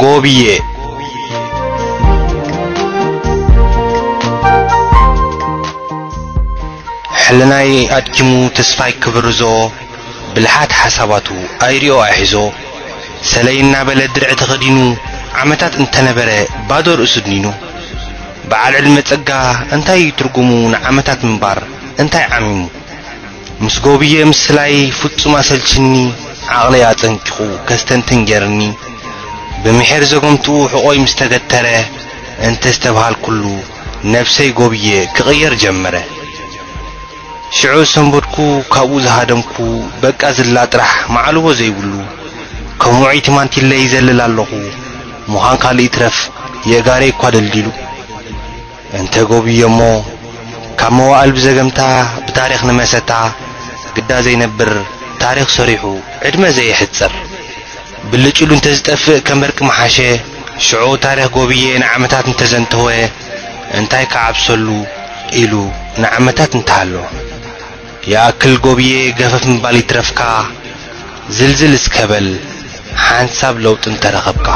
ጎብዬ። ሕልናይ ኣድኪሙ ተስፋይ ክብርዞ፣ ብልሓት ሓሳባቱ ኣይሪኦ ኣይሕዞ፣ ሰለይ እናበለ ድርዒ ተኸዲኑ፣ ዓመታት እንተነበረ ባዶ ርእሱ ድኒኑ። በዓል ዕድመ ጸጋ እንታይ እዩ ትርጉሙ? ንዓመታት ምንባር እንታይ ዓሚሙ? ምስ ጎብዬ ምስላይ ፍጹም ኣሰልችኒ፣ ዓቕለይ ኣጸንኪኹ ከስተንትን ጌርኒ። ብምሒር ዘገምትኡ ሕቖይ ምስ ተገተረ፣ እንተ ዝተብሃልኩሉ ነብሰይ ጎብዬ ክቕየር ጀመረ። ሽዑ ሰንበድኩ፣ ካብኡ ዝሃደምኩ፣ በቃ ዝላ ጥራሕ መዓልቦ ዘይብሉ። ከም ውዑይ ቲማንቲለ ይዘልል ኣለኹ፣ ምዃን ካልእ ይትረፍ የእጋረይ እኳ ደልዲሉ። እንተ ጎብዬ እሞ፣ ካብ መዋእል ብዘገምታ፣ ብታሪኽ ንመሰታ፣ ግዳ ዘይነብር ታሪኽ ሰሪሑ ዕድመ ዘየሕጽር። ብልጭ ኢሉ እንተዝጠፍእ ከም በርቂ ምሓሸ። ሽዑ ታሪኽ ጎብዬ ንዓመታት እንተዘንተወ፣ እንታይ ክዓብሰሉ ኢሉ ንዓመታት እንተሃሎ። ይኣክል ጎብዬ ገፈፍ ምባል ይትረፍካ፣ ዝልዝል እስከ በል ሓንሳብ ለውጢ እንተረኸብካ።